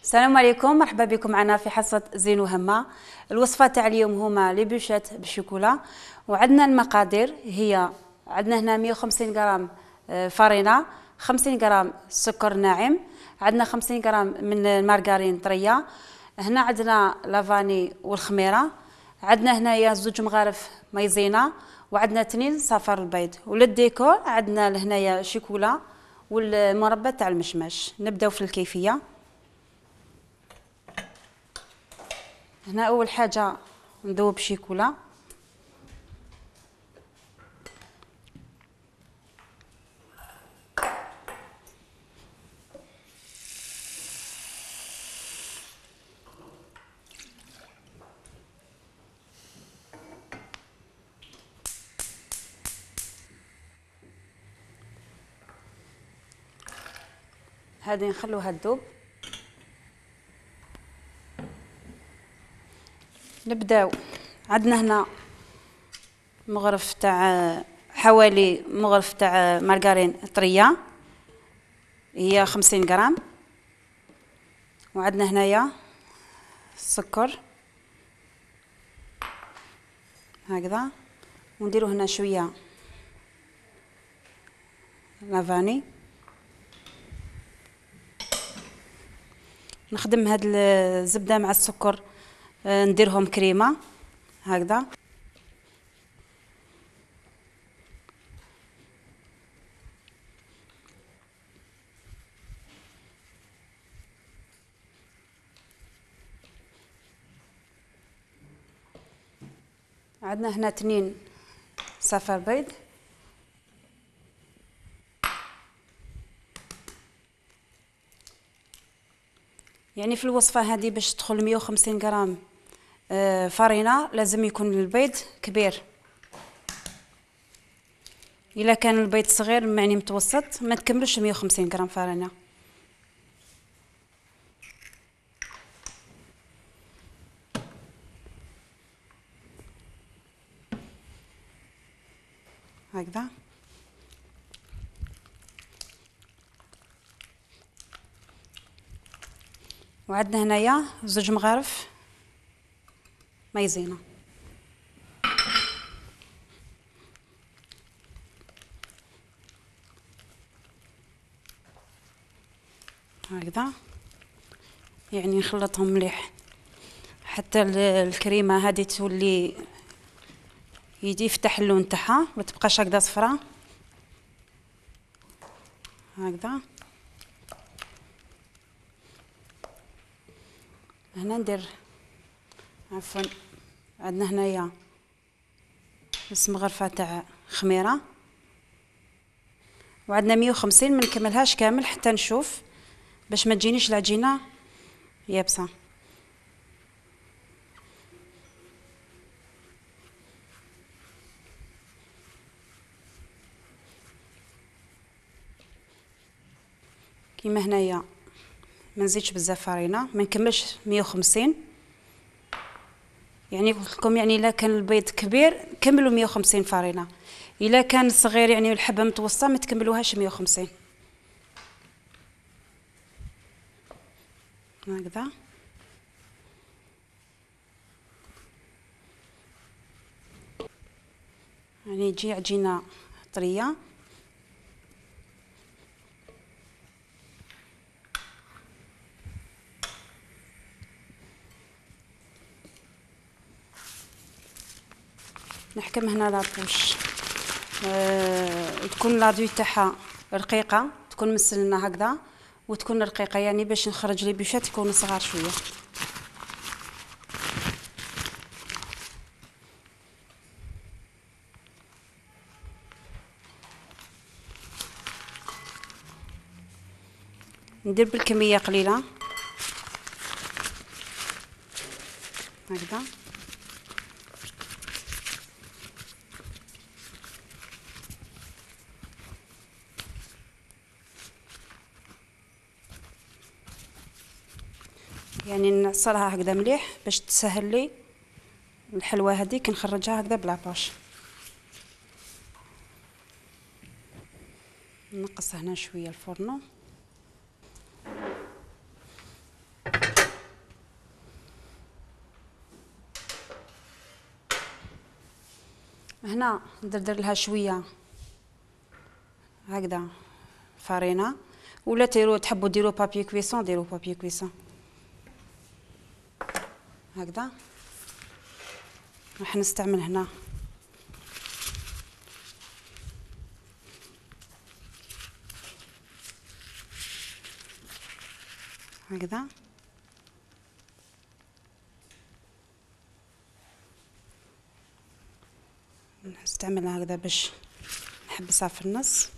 السلام عليكم، مرحبا بكم معنا في حصة زين وهمة. الوصفة تاع اليوم هما لي بوشيت بالشوكولا، وعندنا المقادير هي عندنا هنا 150 غرام فرينة، 50 غرام سكر ناعم، عندنا 50 غرام من المارغرين طرية، هنا عندنا لافاني والخميرة، عندنا هنايا 2 مغارف مايزينا، وعندنا 2 صفار البيض، وللديكور عندنا لهنايا شوكولا والمربى تاع المشماش. نبداو في الكيفية. هنا اول حاجه نذوب شيكولا، هذه نخلوها تذوب. نبداو عندنا هنا مغرف تاع حوالي مغرف تاع مارغرين طريه هي 50 غرام، وعندنا هنايا السكر هكذا، ونديرو هنا شويه لافاني. نخدم هاد الزبده مع السكر، نديرهم كريمه هكذا. عندنا هنا 2 صفار بيض، يعني في الوصفه هذه باش تدخل 150 غرام فرينه لازم يكون البيض كبير. الا كان البيض صغير يعني متوسط ما تكملش 150 غرام فرينه. هكذا. وعندنا هنايا 2 مغارف مايزينا. هكذا يعني نخلطهم مليح حتى الكريمه هذه تولي يفتح اللون تاعها، ما تبقاش هكذا صفراء هكذا. هنا ندير عفوا عندنا هنايا نص مغرفه تاع خميره، وعندنا 150 ما نكملهاش كامل حتى نشوف باش ما تجينيش العجينه يابسه. كيما هنايا ما نزيدش بزاف فرينه، ما نكملش 150. يعني قلت لكم يعني الا كان البيض كبير كملوا 150 فرينه، الا كان صغير يعني الحبه متوسطه ما تكملوهاش 150 هكذا. يعني تجي عجينه طريه. نحكم هنا لابوش، تكون لاضوي تاعها رقيقه، تكون مسنه هكذا وتكون رقيقه، يعني باش نخرج لي بوشات يكونوا صغار شويه. ندير بالكميه قليله هكذا. يعني نعصرها هكذا مليح باش تسهل لي الحلوى هذه كي نخرجها هكذا بلا باش. نقص هنا شويه الفرن. هنا ندردر لها شويه هكذا فرينه، ولا تحبوا ديروا بابي كويسون ديروا بابي كويسون هكذا. راح نستعمل هنا هكذا. نستعملها هكذا باش نحبسها في النص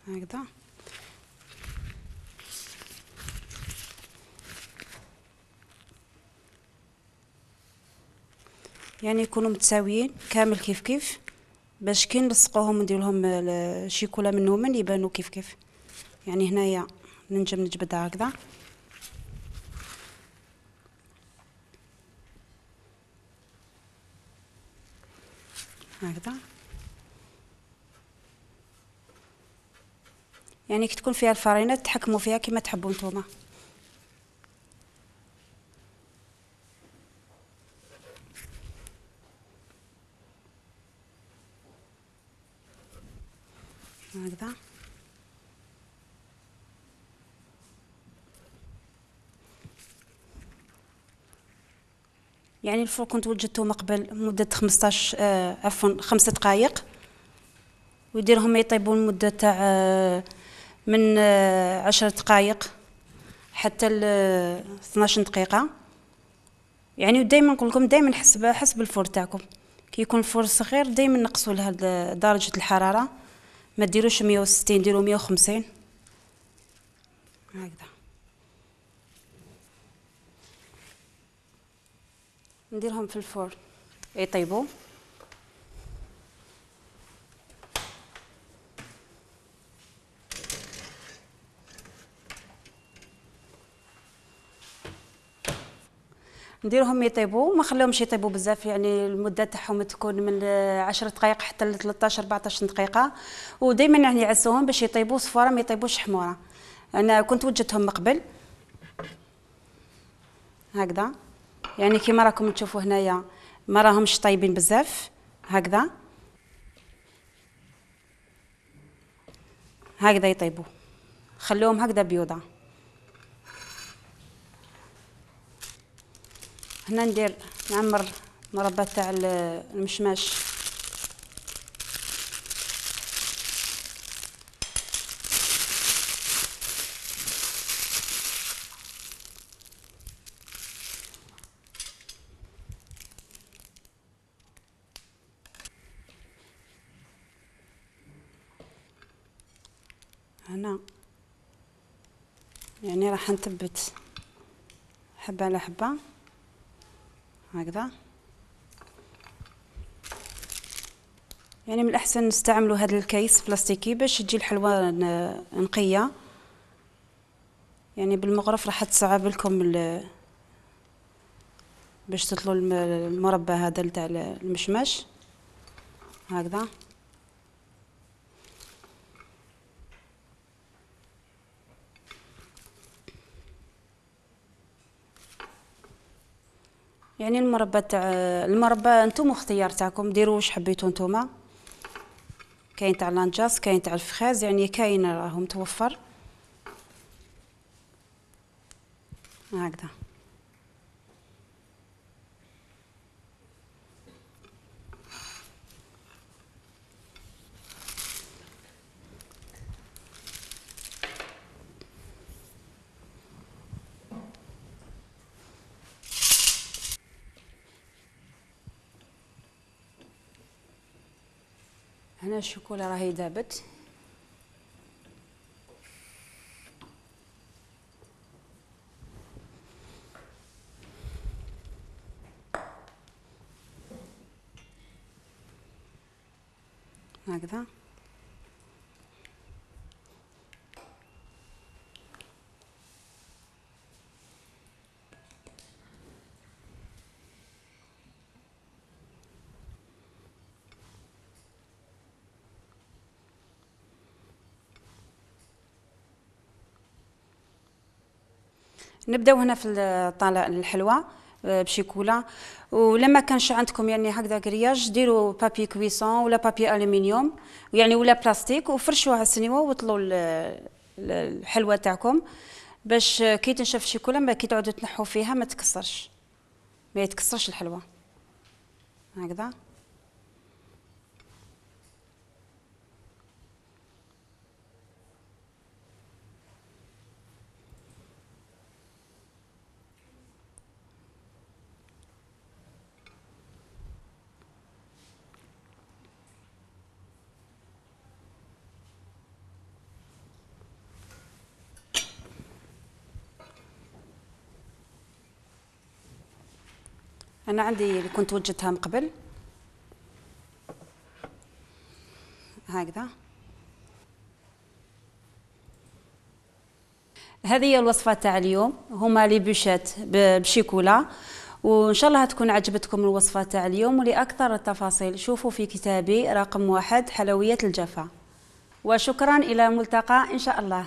هكذا. يعني يكونوا متساويين كامل كيف كيف باش كي نلصقوهم وندير لهم الشيكولا منهم يبانوا كيف كيف. يعني هنايا ننجم نجبدها هكذا هكذا. يعني كي تكون فيها الفرينه تحكموا فيها كما تحبوا نتوما. هكذا. يعني الفرن كنت وجدته من قبل مدة 15 عفوا 5 دقائق، ويديرهم يطيبوا لمدة تاع من 10 دقائق حتى ل 12 دقيقة. يعني دائما نقول لكم دائما حسب الفرن تاعكم. كي يكون الفرن صغير دائما نقصوا لها درجة الحرارة، ما ديروش 160 ديروا 150 هكذا. نديرهم في الفرن يطيبوا. نديرهم يطيبوا، ما خليهمش يطيبوا بزاف، يعني المده تاعهم تكون من 10 دقائق حتى ل 13 14 دقيقه. ودائما يعني يعسوهم باش يطيبوا صفاره ما يطيبوش حموره. انا كنت وجدتهم من قبل هكذا، يعني كيما راكم تشوفوا هنايا ما راهمش طايبين بزاف هكذا. هكذا يطيبوا، خلوهم هكذا بيوضه. هنا نعمر مربى تاع المشماش. هنا يعني راح نثبت حبه على حبه هكذا. يعني من الاحسن نستعملوا هذا الكيس بلاستيكي باش تجي الحلوى نقيه. يعني بالمغرف راح تصعب لكم باش تطلوا المربى هذا تاع المشماش هكذا. يعني المربى انتم اختيار تاعكم، ديروا واش حبيتوا نتوما. كاين تاع لانجاس، كاين تاع الفخاز، يعني كاين راهو متوفر هكذا. هنا الشوكولا راهي ذابت. هكذا. نبداو هنا في الطالع الحلوى بشيكولا. ولما كانش عندكم يعني هكذا كرياج، ديروا بابي كويسون ولا بابي الومنيوم يعني ولا بلاستيك وفرشوها على السنيوه وطلوا الحلوى تاعكم، باش كي تنشف الشيكولا ما كي تعودوا تنحوا فيها ما تكسرش، ما يتكسرش الحلوى. هكذا. أنا عندي اللي كنت وجدتها من قبل هكذا. هذه هي الوصفة تاع اليوم، هما لي بوشات بشيكولا. وإن شاء الله تكون عجبتكم الوصفة تاع اليوم. ولأكثر التفاصيل شوفوا في كتابي رقم 1 حلويات الجفا. وشكرا إلى الملتقى إن شاء الله.